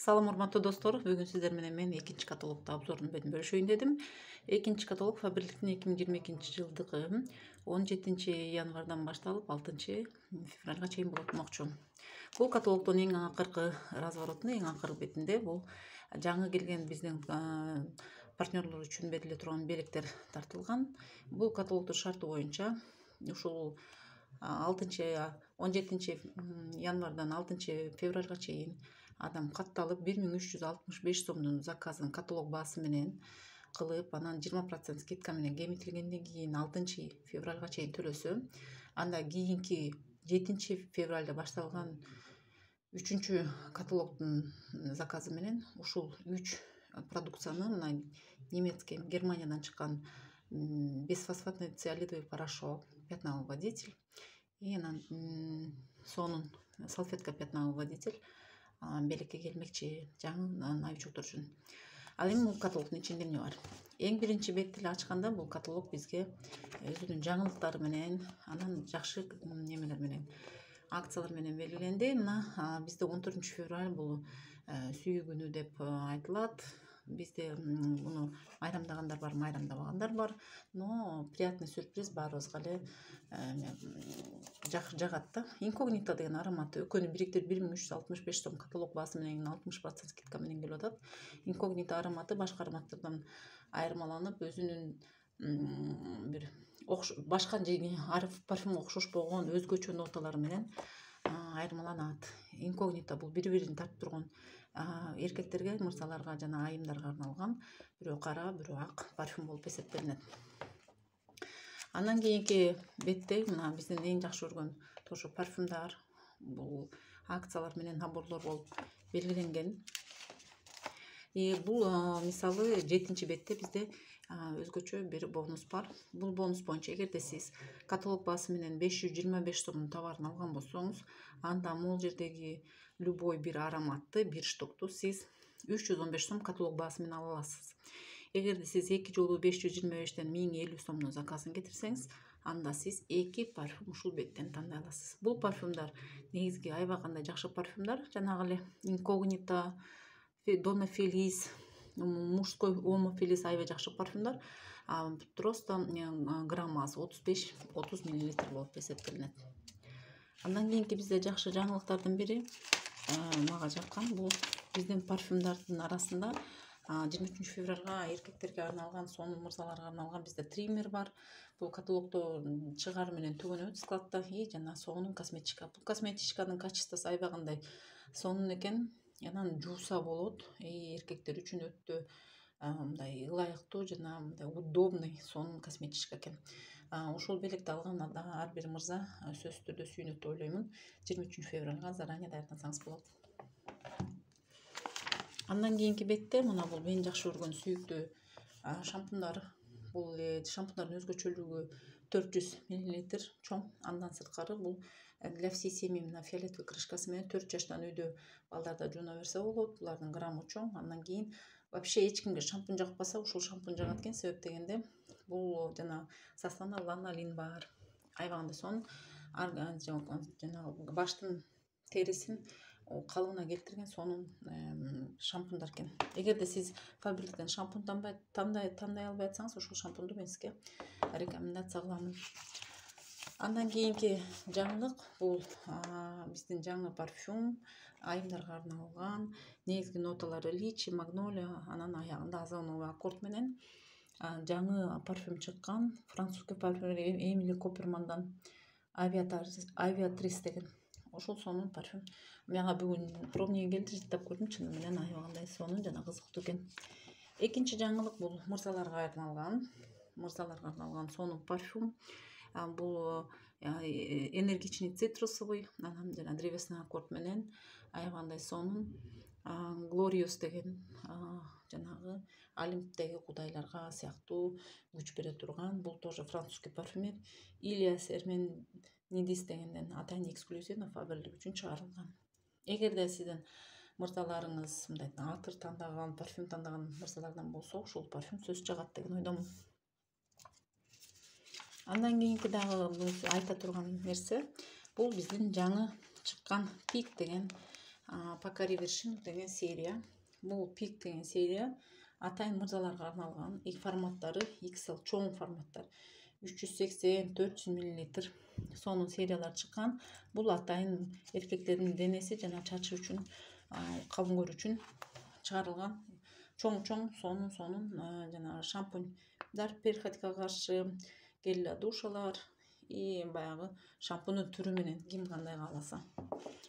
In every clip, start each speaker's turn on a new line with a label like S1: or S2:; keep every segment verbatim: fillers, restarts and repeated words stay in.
S1: Салам урматтуу достор, бүгүн сиздер менен мен экинчи каталогду обзорун бөлүшөйүн дедим. Экинчи каталог Фаберликтин эки миң жыйырма экинчи жылдыгы он жетинчи январдан башталып алтынчы февралга чейин болот демокчу. Бул каталогдун эң акыркы разворотунда, эң акыркы бетинде бул жаңы келген биздин партнерлор үчүн бериле турган белектер тартылган. Бул каталогдун шарты боюнча ушул алтынчы он жетинчи январдан алтынчы февралга чейин адам катталып бир миң үч жүз алтымыш беш сомдун заказын каталог баасы менен кылып, анан жыйырма процент скидка менен кемитилгенден кийин алтынчы февралга чейин төлөсө, анда кийинки жетинчи февралда башталган үчүнчү каталогдун заказы менен ушул үч продукцияны, мына немецкий Германиядан чыккан бесфосфатный циолидовый порошок, пятновыводитель и анан сонун салфетка пятновыводитель белекке келмекчи жаңы найчоктор үчүн. Ал эми бул каталогдун ичинде эмне бар? Эң биринчи бетти эле ачканда бул каталог бизге өзүнүн жаңылыктары менен, анан жакшы немелер менен, акциялар менен белгиленди. Мына бизде он төртүнчү февраль бул сүйүү күнү деп айтылат. Бизде муну майрамдагандар бар, майрамдабагандар бар. Но приятный сюрприз баарыбызга эле жагат да. Инкогнито деген ароматы экөөнү бириктирип бир миң үч жүз алтымыш беш сом каталог баасы менен алтымыш процент скидка менен келип атат. Инкогнито ароматы башка ароматтардан айырмаланып, өзүнүн бир башка парфюмга окшошпогон өзгөчө ноталары менен айырмаланат. Инкогнито бул бири-бирин тартып турган эркектерге, мырзаларга жана айымдарга арналган бирөө кара, бирөө ак парфюм болуп эсептелинет. Андан кийинки бетте мына биздин эң жакшы көргөн тоже парфюмдар, бул акциялар менен наборлор болуп белгиленген. И бул мисалы жетинчи бетте бизде өзгөчө бир бонус бар. Бул бонус боюнча эгерде сиз каталог баасы менен беш жүз жыйырма беш сомдун товарын алган болсоңуз, анда могул жердеги любой бир ароматты, бир штукту сиз үч жүз он беш сом каталог баасы менен ала аласыз. Эгерде сиз эки жолу беш жүз жыйырма бештен миң элүү сомдун заказын кетирсеңиз, анда сиз эки парфюм ушул беттен тандай аласыз. Бул парфюмдар негизги аябай кандай жакшы парфюмдар. Жанагы эле Инкогнито, Дона Фелис, мужской Омо Фелис аябай жакшы парфюмдар. Просто граммасы отуз беш отуз миллилитр болуп эсептелинет. Андан кийинки бизде жакшы жаңылыктардын бири, мага жаккан, бул биздин парфюмдардын арасында жыйырма үчүнчү февралга эркектерге арналган, сонун мырзаларга арналган бизде триммер бар. Бул каталогдо чыгары менен түгөнөбүт складта. И жана сонун косметика. Бул косметичканын качествосу аябай кандай сонун экен. Анан жууса болот. И эркектер үчүн өтө мындай ылайыктуу жана мындай удобный, сонун косметичка экен. Ушул белекти алган ар бир мырза сөзсүз түрдө сүйүнөт деп ойлоймун. жыйырма үчүнчү февралга заранее даярдансаңыз болот. Андан кийинки бетте мына бул мен жакшы көргөн сүйүктүү шампундар. Бул шампундардын өзгөчөлүгү төрт жүз миллилитр чоң. Андан сырткары бул для всей семьи мына фиолетовый крышкасы менен төрт жаштан үйдө балдарда жууна берсе болот. Булардын граммы чоң. Андан кийин вообще эч кимге шампунь жакпаса, ушул шампунь жагат экен. Себеп дегенде бул жана составында ланолин бар. Аябай кандай сонун. Жана баштын терисин калыбына келтирген сонун шампундар экен. Эгерде сиз Фаберликтен шампунь тандай албай атсаңыз, ушул шампунду мен сизге рекомендация кылам. Андан кийинки жаңылык бул биздин жаңы парфюм, айымдарга арналган. Негизги ноталары личи, магнолия, анан аягында озоновый аккорд менен жаңы парфюм чыккан. Французский парфюмер Эмили Коппермандан авиатрис деген ошол сонун парфюм. Мага бүгүн пробныйы келди, жыттап көрдүм, чыны менен аябай кандай сонун жана кызыктуу экен. Экинчи жаңылык бул мырзаларга арналган, мырзаларга арналган сонун парфюм. Бул энергичный цитрусовый, анан жана древесный аккорд менен аябай кандай сонун. Glorious деген жанагы Олимптеги кудайларга сыяктуу күч бере турган. Бул тоже французский парфюмер Илиас Эрменидис дегенден атайын эксклюзивно Фаберлик үчүн чыгарылган. Эгерде сиздин мырзаларыңыз мындай атыр тандаган, парфюм тандаган мырзалардан болсо, ушул парфюм сөз жагат деген ойдомун. Андан кийинки дагы айта турган нерсе, бул биздин жаңы чыккан Пик деген Пока Reversion деген серия. Бул Peak деген серия атайын мырзаларга арналган. И форматтары икс эл чоң форматтар. үч жүз сексен төрт жүз миллилитр сонун сериялар чыккан. Бул атайын эркектердин денеси жана чачы үчүн, кабынгөр үчүн чыгарылган чоң-чоң сонун сонун жана шампуньдар, перхотька каршы, гель для душалар и баягы шампуньдун түрү менен ким кандай кааласа.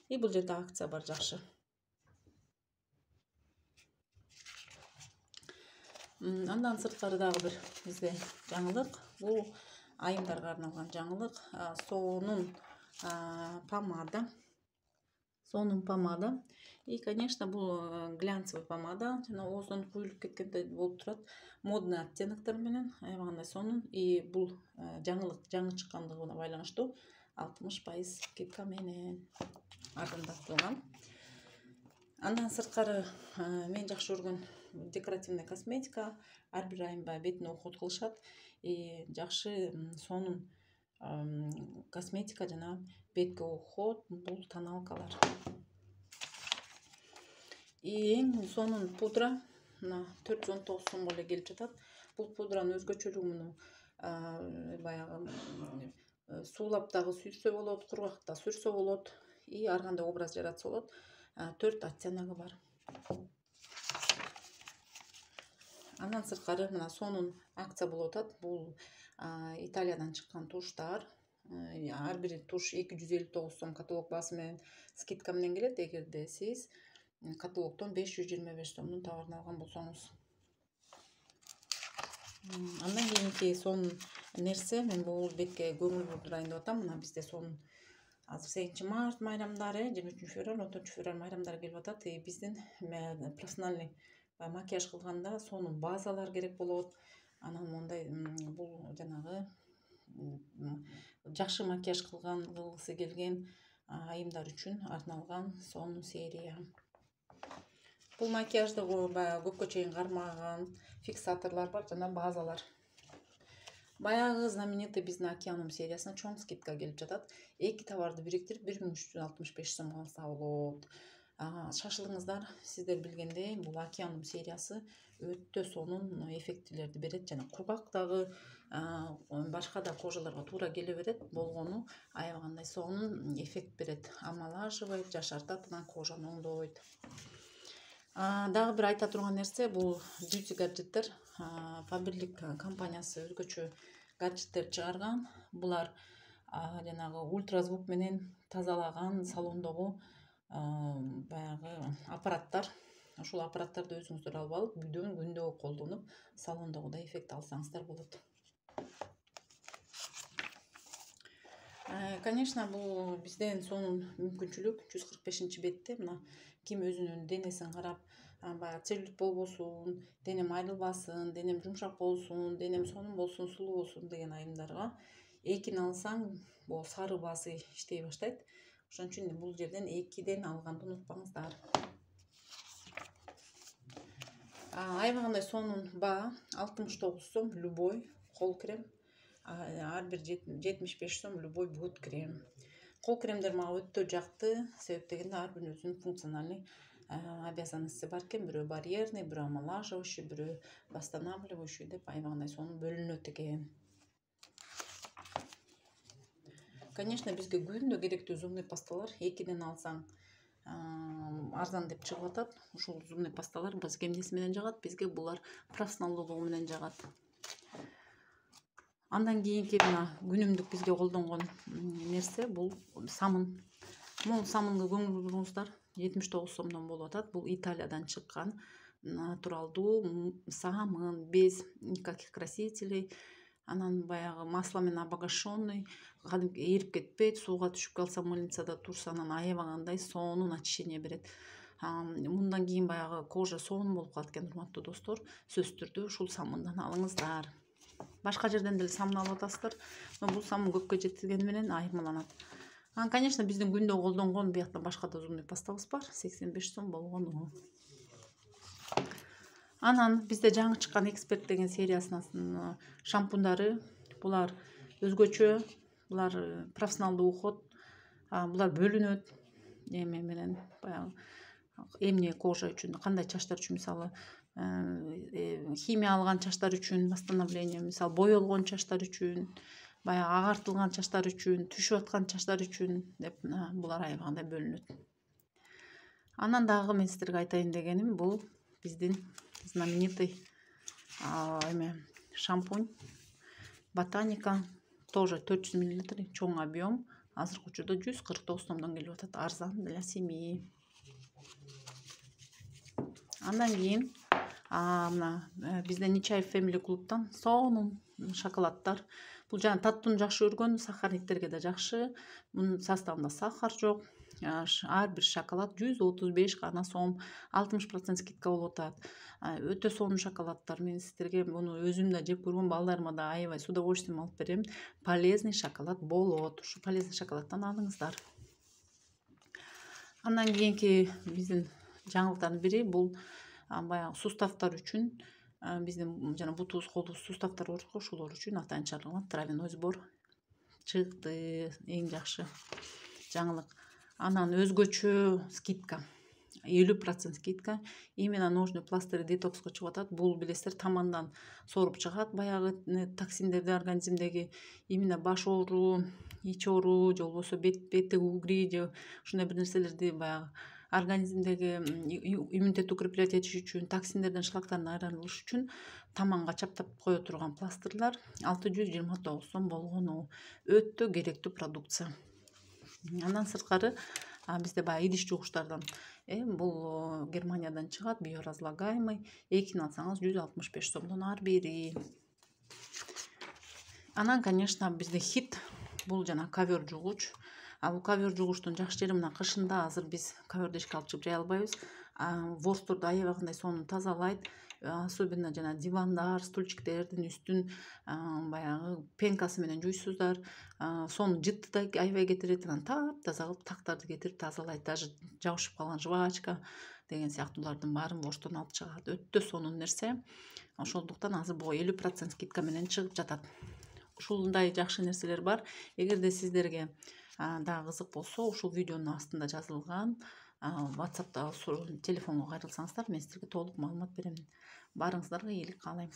S1: И бул жерде акция бар, жакшы. Андан сырткары дагы бир бизде жаңылык. Бул айымдарга арналган жаңылык. Сонун помада. Сонун помада. И, конечно, бул глянцевый помада. Жана оозунан куюлуп кеткендей болуп турат. Модный оттеноктор менен аябагандай сонун. И бул жаңылык жаңы чыккандыгына байланыштуу алтымыш пайыз скидка менен арзандатылган. Андан сырткары мен жакшы көргөн декоративный косметика. Ар бир айым баягы бетине уход кылышат. И жакшы сонун косметика жана бетке уход бул тоналкалар. И эң сонун пудра мына төрт жүз он тогуз сомго эле келип жатат. Бул пудранын өзгөчөлүгү муну баягы суулап дагы сүйрсө болот, кургак да сүрсө болот. И ар кандай образ жаратса болот. төрт оттеногу бар. Андан сырткары мына сонун акция болуп атат. Бул Италиядан чыккан туштар. Ар бир туш эки жүз элүү тогуз сом каталог баасы менен скидка менен келет. Эгерде сиз каталогдон беш жүз жыйырма беш сомдун товарын алган болсоңуз. Андан кийинки сонун нерсе, мен бул бетке көңүл бурдурайын деп атам. Мына бизде сонун азыр сегизинчи март майрамдары, жыйырма үчүнчү февраль, он төртүнчү февраль майрамдары келип атат. И биздин профессиональный макияж кылганда сонун базалар керек болот. Анан мондай бул жанагы жакшы макияж кылган, кылгысы келген айымдар үчүн арналган сонун серия. Бул макияжды баягы көпкө чейин кармаган фиксаторлор бар жана базалар. Баягы знаменитый биздин Океанум сериясына чоң скидка келип жатат. Эки товарды бириктирип бир миң үч жүз алтымыш беш сомго алса болот. Шашылыңыздар, сиздер билгендей, бул Океанум сериясы өтө сонун эффектилерди берет жана кургак дагы, башка да кожаларга туура келе берет. Болгону аябагандай сонун эффект берет. Омолаживает, жашартат, анан кожаны оңдойт. Дагы бир айта турган нерсе, бул beauty гаджеттер. Фаберлик компаниясы өзгөчө гаджеттер чыгарган. Булар жанагы ультразвук менен тазалаган салондогу баягы аппараттар. Ушул аппараттарды өзүңүздөр алып алып, үйдөн күндө колдонуп, салондогудай эффект алсаңыздар болот. Конечно, бул бизден сонун мүмкүнчүлүк. жүз кырк бешинчи бетте мына ким өзүнүн денесин карап, баягы целлюлит болбосун, денем айрылбасын, денем жумшак болсун, денем сонун болсун, сулуу болсун деген айымдарга экини алсаң, бул сары баасы иштей баштайт. Ошон үчүн бул жерден экиден алганды унутпаңыздар. Аябагандай сонун баа алтымыш тогуз сом любой кол крем, ар бир жетимиш беш сом любой бут крем. Кол кремдер мага өтө жакты, себеп дегенде ар биринин өзүнүн функциональный обязанности бар экен. Бирөө барьерный, бирөө омолаживающий, бирөө восстанавливающий деп аябагандай сонун бөлүнөт экен. Конечно, бизге күндө керектүү зубный пасталар экиден алсаң арзан деп чыгып атат. Ушул зубный пасталар бизге эмнеси менен жагат? Бизге булар профессионалдуулугу менен жагат. Андан кийинки мына күнүмдүк бизге колдонгон нерсе бул самын. Бул самынга көңүл буруңуздар. жетимиш тогуз сомдон болуп атат. Бул Италиядан чыккан натуралдуу самын, без никаких красителей. Анан баягы масло менен обогащенный, кадимки эрип кетпейт, сууга түшүп калса, мыльницада турса, анан аябагандай сонун очищение берет. Мындан кийин баягы кожа сонун болуп калат экен, урматтуу достор. Сөзсүз түрдө ушул самындан алыңыздар. Башка жерден деле самын алып атасыздар, но бул самын көпкө жеткизгени менен айырмаланат. Анан, конечно, биздин күндө колдонгон бияктан башка да зубный пастабыз бар, сексен беш сом болгону. Анан бизде жаңы чыккан эксперт деген сериясынын шампундары. Булар өзгөчө, булар профессионалдуу уход, булар бөлүнөт. эме менен баягы эмне кожа үчүн, кандай чачтар үчүн, мисалы химия алган чачтар үчүн восстановление, мисалы боелгон чачтар үчүн, баягы агартылган чачтар үчүн, түшүп аткан чачтар үчүн деп булар аябагандай бөлүнөт. Анан дагы мен сиздерге айтайын дегеним, бул биздин знаменитый эме шампунь Ботаника, тоже төрт жүз миллилитр, чоң объем, азыркы учурда жүз кырк тогуз сомдон келип атат, арзан для семьи. Андан кийин мына бизде Нечаев Family клубтан сонун шоколадтар. Бул жана таттууну жакшы көргөн сахарниктерге да жакшы. Мунун составында сахар жок. Ар бир шоколад жүз отуз беш гана сом, алтымыш процент скидка болуп атат. Өтө сонун шоколадтар. Мен сиздерге муну өзүм да жеп көргөм, балдарыма да аябай с удовольствием алып берем. Полезный шоколад болот. Ушу полезный шоколадтан алыңыздар. Андан кийинки биздин жаңылыктардын бири бул баягы суставтар үчүн, биздин жана бутубуз колубуз суставтар бар го, ошолор үчүн атайын чыгарылган травяной сбор чыкты. Эң жакшы жаңылык. Анан өзгөчө скидка, элүү процент скидка. Именно ножный пластырь детокска чыгып атат. Бул билесиздер, тамандан соруп чыгат баягы токсиндерди организмдеги. Именно баш оору, ич оору, же болбосо беттеги угри, же ушундай бир нерселерди баягы организмдеги иммунитетти укреплять этиш үчүн, токсиндерден, шлактардан айырылыш үчүн таманга чаптап кое турган пластырлар алты жүз жыйырма тогуз сом болгону. Өтө керектүү продукция. Андан сырткары бизде баягы идиш жугуштардан, бул Германиядан чыгат, биоразлагаемый, экини алсаңыз жүз алтымыш беш сомдон ар бири. Анан, конечно, бизде хит бул жана ковер жугуч. Бул ковер жугуштун жакшы жери мына кышында азыр биз коверди эшикке алып чыгып жая албайбыз. Ворсторду аябагандай сонун тазалайт. Особенно жана дивандар, стульчиктердин үстүн баягы пенкасы менен жуйсуздар. Сонун жытты да аябай кетирет. Анан таптаза кылып тактарды кетирип тазалайт. Даже жабышып калган жвачка деген сыяктуулардын баарын ворстон алып чыгат. Өтө сонун нерсе. Ошондуктан азыр буга элүү процент скидка менен чыгып жатат. Ушундай жакшы нерселер бар. Эгерде сиздерге дагы кызык болсо, ушул видеонун астында жазылган WhatsApp'та телефонго кайрылсаңыздар, мен сиздерге толук маалымат берем. Барыңыздарга ийгилик каалайм.